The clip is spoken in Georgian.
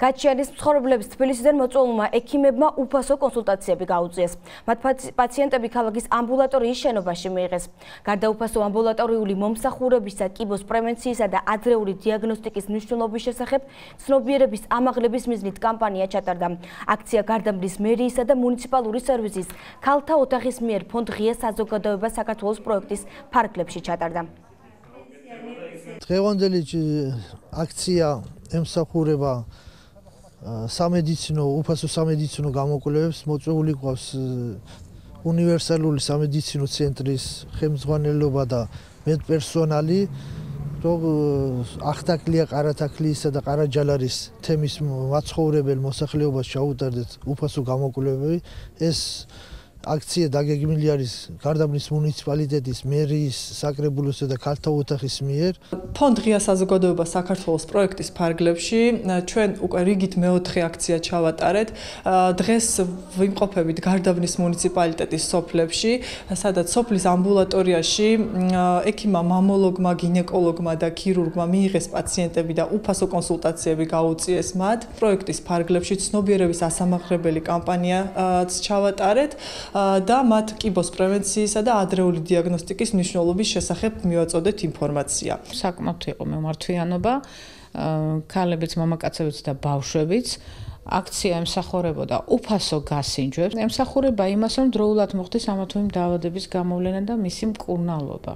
გაჩიანის მცხოვრებლების თბილისიდან მოწვეულმა ექიმებმა უფასო კონსულტაციები გაუწიეს. მათ პაციენტები ქალაქის ამბულატორიის შენობაში მიიღეს. გარდა უფასო ამბულატორიული მომსახურებისა, კიბოს პრევენციისა და ადრეული დიაგნოსტიკის მნიშვნელობის შესახებ ცნობიერების ამაღლების მიზნით კამპანია ჩატარდა. აქცია გარდამდის მერიისა და მუნიციპალური სერვისის ქალთა ოთახის მიერ ფონდ ღია საზოგადოება საქართველოს პროექტის ფარგლებში ჩატარდა. დღევანდელი აქცია ემსახურება სამედიცინო უფასო სამედიცინო გამოკვლევებს. მოწვეული გვაქვს უნივერსალური სამედიცინო ცენტრის ხელმძღვანელობა და მედპერსონალი, რომ ახთაკლია ყარათაკლისა და ყარაჯალარის თემის მაცხოვრებელ მოსახლეობას ჩაუტარდეთ უფასო გამოკვლევები. ეს აქცია დაგეგმილი არის გარდაბნის მუნიციპალიტეტის მერიის საკრებულოსა და ქალთა ოთახის მიერ. ფონდ ღია საზოგადოება საქართველოს პროექტის ფარგლებში ჩვენ უკვე რიგით მეოთხე აქცია ჩავატარეთ. დღეს ვიმყოფებით გარდაბნის მუნიციპალიტეტის სოფლებში, სადაც სოფლის ამბულატორიაში ექიმმა, მამოლოგმა, გინეკოლოგმა და ქირურგმა მიიღეს პაციენტები და უფასო კონსულტაციები გაუწიეს მათ. პროექტის ფარგლებში ცნობიერების ასამაღლებელი კამპანიაც ჩავატარეთ და მათ კიბოს პრევენციისა და ადრეული დიაგნოსტიკის მნიშვნელობის შესახებ მივაწოდეთ ინფორმაცია. საკმაოდ იყო მემართვიანობა, ქალებიც, მამაკაცებიც და ბავშვებიც. აქცია ემსახურებოდა უფასო გასინჯვებს. ემსახურება იმას, რომ დროულად მოხდეს ამა თუ იმ დაავადების გამოვლენა და მისი მკურნალობა.